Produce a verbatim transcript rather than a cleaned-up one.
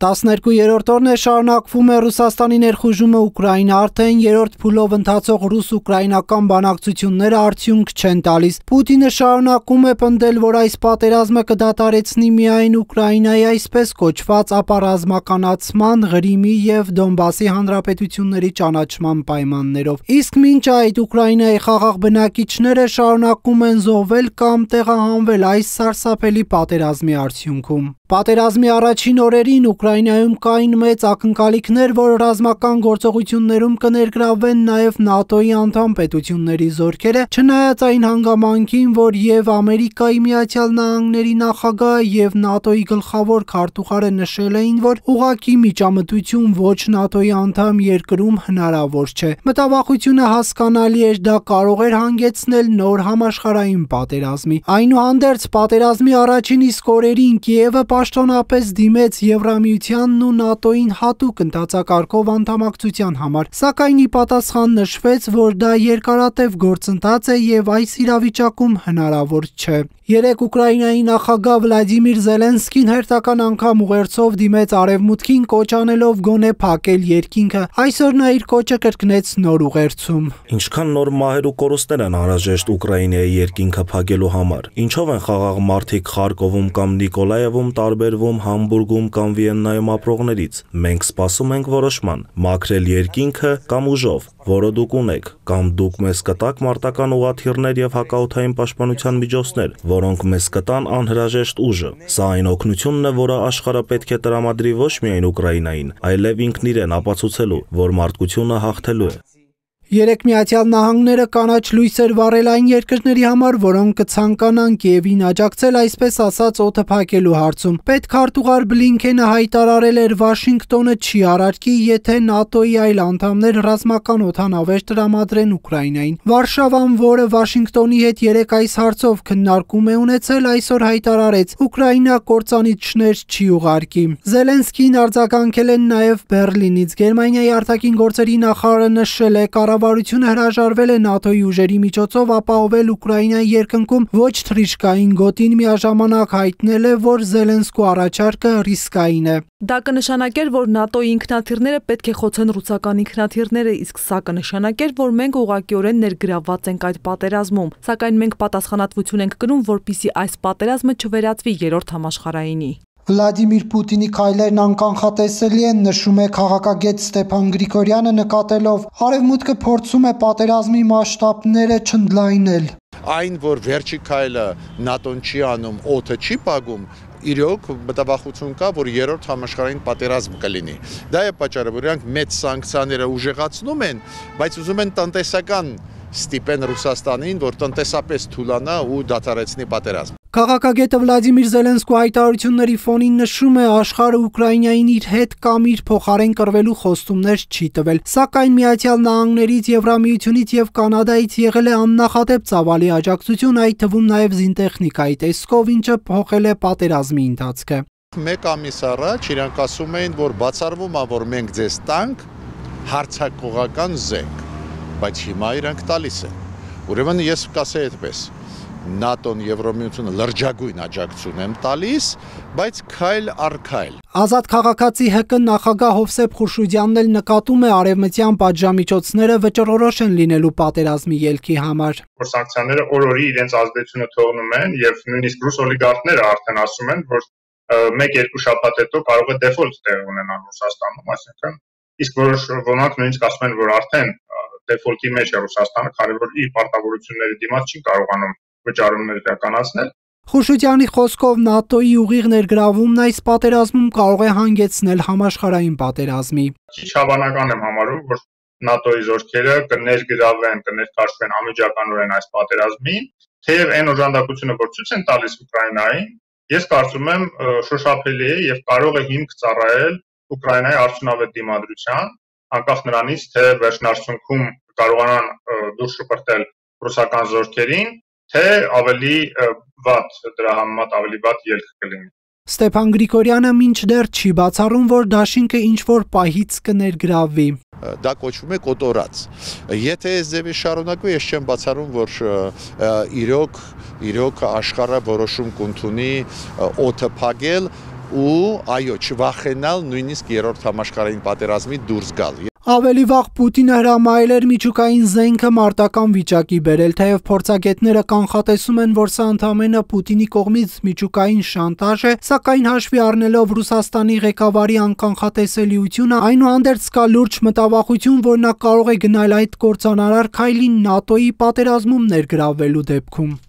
տասներկուերորդ օրն է շարունակվում է Ռուսաստանի ներխուժումը Ուկրաինա, արդեն երրորդ փուլով ընթացող ռուս-ուկրաինական բանակցությունները արդյունք չեն տալիս։ Պուտինը շարունակում է պնդել, որ այս պատերազմը կդադարեցնի միայն Ուկրաինայի այսպես կոչված ապառազմականացման, Ղրիմի և Դոնբասի հանրապետությունների ճանաչման պայմաններով։ Իսկ մինչ այդ Ուկրաինայի խաղաղ բնակիչները շարունակում են զոհվել կամ տեղահանվել այս սարսափելի պատերազմի արդյունքում։ Պատերազմի առաջին օրերին Ուկրաինայում կային մեծ ակնկալիքներ, որ ռազմական գործողություններում կներգրավվեն նաև ՆԱՏՕ-ի անդամ պետությունների զորքերը, չնայած այն հանգամանքին, որ և Ամերիկայի Միացյալ Նահանգների նախագահը և ՆԱՏՕ-ի գլխավոր քարտուղարը նշել էին, որ ուղղակի միջամտություն ոչ ՆԱՏՕ-ի անդամ երկրում հնարավոր չէ։ Մտավախությունը հասկանալի էր, դա կարող էր հանգեցնել նոր համաշխարհային պատերազմի։ Այնուհանդերձ, պատերազմի առաջին իսկ օրերին Կիևը պաշտոնապես դիմեց Եվրամիությանն ու ՆԱՏՕ-ին հատուկ ընթացակարգով անդամակցության համար, սակայն ի պատասխան նշվեց, որ դա երկարատև գործընթաց է և այս իրավիճակում հնարավոր չէ։ Երեկ Ուկրաինայի նախագահ Վլադիմիր Զելենսկին հերթական անգամ ուղերձով դիմեց Արևմուտքին, կոչ անելով գոնե փակել երկինքը։ Այսօր նա իր կոչը կրկնեց նոր ուղերձում։ Ինչքան նոր մահեր ու կորուստներ են անհրաժեշտ Ուկրաինայի երկինքը փակելու համար։ Ինչով են խաղաղ մարդիկ Խարկովում կամ Նիկոլաևում տարբերվում Համբուրգում կամ Վիեննայում ապրողներից։ Մենք սպասում ենք որոշման՝ մաքրել երկինքը կամ ուժով, որը դուք ունեք, կամ դուք մեզ կտաք մարտական ուղղաթիռներ և հակաօդային պաշտպանության միջոցներ, որոնք մեզ կտան անհրաժեշտ ուժը։ Սա այն օգնությունն է, որը աշխարհը պետք է տրամադրի ոչ միայն Ուկրաինային, այլև ինքն իրեն ապացուցելու, որ մարդկությունը հաղթելու է։ Երեկ Միացյալ Նահանգները կանաչ լույս էր վառել այն երկրների համար, որոնք կցանկանան Կիևին աջակցել այսպես ասած օդը փակելու հարցում։ Պետքարտուղար Բլինքենը հայտարարել էր, Վաշինգտոնը չի արարքի, եթե ՆԱՏՕ-ի այլ անդամներ ռազմական օդանավեր տրամադրեն Ուկրաինային։ Վարշավան, որը Վաշինգտոնի հետ երեկ այս հարցով քննարկում է ունեցել, այսօր հայտարարեց, Ուկրաինա կործանիչներ չի ուղարկի։ Զելենսկին արձագանքել են նաև Բեռլինից։ Գերմանիայի արտաքին գործերի նախարարը նշել է, կառավարությունը հրաժարվել է ՆԱՏՕ-ի ուժերի միջոցով ապահովել Ուկրաինայի երկնքում ոչ թռիչքային գոտին, միաժամանակ հայտնել է, որ Զելենսկու առաջարկը ռիսկային է։ Դա կնշանակեր, որ ՆԱՏՕ-ի ինքնաթիռները պետք է խոցեն ռուսական ինքնաթիռները, իսկ սա կնշանակեր, որ մենք ուղղակիորեն ներգրավված ենք այդ պատերազմում, սակայն մենք պատասխանատվություն ենք կրում, որպեսզի այս պատերազմը չվերածվի երրորդ համաշխարհայինի։ Վլադիմիր Պուտինի քայլերն անկանխատեսելի են, նշում է քաղաքագետ Ստեփան Գրիգորյանը, նկատելով Արևմուտքը փորձում է պատերազմի մասշտաբները չընդլայնել։ Այն, որ վերջի քայլը ՆԱՏՕ-ն չի անում, օդը չի փակում, իրոք մտավախություն կա, որ երրորդ համաշխարհային պատերազմ կլինի։ Դա է պատճառը, որ իրանք մեծ սանկցիաները ուժեղացնում են, բայց ուզում են տնտեսական ստիպեն Ռուսաստանին, որ տնտեսապես թուլանա ու դադարեցնի պատերազմ։ Քաղաքագետը Վլադիմիր Զելենսկու հայտարարությունների ֆոնին նշում է, աշխարհը Ուկրաինային իր հետ կամ իր փոխարեն կռվելու խոստումներ չի տվել, սակայն Միացյալ Նահանգներից, Եվրամիությունից և Կանադայից եղել է աննախադեպ ծավալի աջակցություն, այդ թվում նաև զինտեխնիկայի տեսքով, ինչը փոխել է պատերազմի ընթացքը։ Մեկ ամիս առաջ իրանք ասում էին, որ բացառվում է, որ մենք ձեզ տանք հարձակողական զենք, բայց հիմա իրանք տալիս են։ Ուրեմն ես կասեի այդպես, ՆԱՏՕ-ն, Եվրամիությունը լրջագույն աջակցություն են տալիս, բայց քայլ առ քայլ։ Ազատ քաղաքացի ՀԿ նախագահ Հովսեփ Խուրշուդյանն էլ նկատում է արևմտյան պատժամիջոցները վճռորոշ են լինելու պատերազմի ելքի համար։ Որ սանկցիաները օր-օրի իրենց ազդեցությունը թողնում են եւ նույնիսկ ռուս օլիգարխները արդեն ասում են, որ մեկ-երկու շաբաթ հետո կարող է դեֆոլտ տեղ ունենալ Ռուսաստանում, այսինքն իսկ որոշ ոմանք նույնիսկ ասում են, որ արդեն դեֆոլտի մեջ է Ռուսաստանը, քանի որ իր պարտավորությունների դիմաց չի կարողանում վճարումներ իրականացնել։ Խուրշուդյանի խոսքով ՆԱՏՕ-ի ուղիղ ներգրավումն այս պատերազմում կարող է հանգեցնել համաշխարհային պատերազմի։ Քիչ հավանական եմ համարում, որ ՆԱՏՕ-ի զորքերը կներգրավեն, կներկայացվեն անմիջականորեն այս պատերազմին, թեև այն օժանդակությունը, որ ցույց են տալիս Ուկրաինային, ես կարծում եմ շոշափելի է եւ կարող է հիմք ծառայել Ուկրաինայի արդյունավետ դիմադրության, անկախ նրանից, թե վերջնարդյունքում կարողանան դուրս շպրտել ռուսական զորքերին, թե ավելի վատ դրա համեմատ ավելի վատ ելք կլինի։ Ստեփան Գրիգորյանը մինչդեռ չի բացառում, որ դաշինքը ինչ-որ պահից կներգրավվի։ Դա կոչվում է կոտորած։ Եթե այս ձևի շարունակվի, ես չեմ բացառում, որ իրոք իրոք աշխարհը որոշում կընդունի օդը փակել, ու այո, չվախենալ նույնիսկ երրորդ համաշխարհային պատերազմի դուրս գալ։ Ավելի վաղ Պուտինը հրամայել էր միջուկային զենքը մարտական վիճակի բերել, թեև փորձագետները կանխատեսում են, որ սա ընդամենը Պուտինի կողմից միջուկային շանտաժ է, սակայն հաշվի առնելով Ռուսաստանի ղեկավարի անկանխատեսելիությունը, այնուհանդերձ կա լուրջ մտավախություն, որ նա կարող է գնալ այդ կործանարար քայլին ՆԱՏՕ-ի պատերազմում ներգրավվելու դեպքում։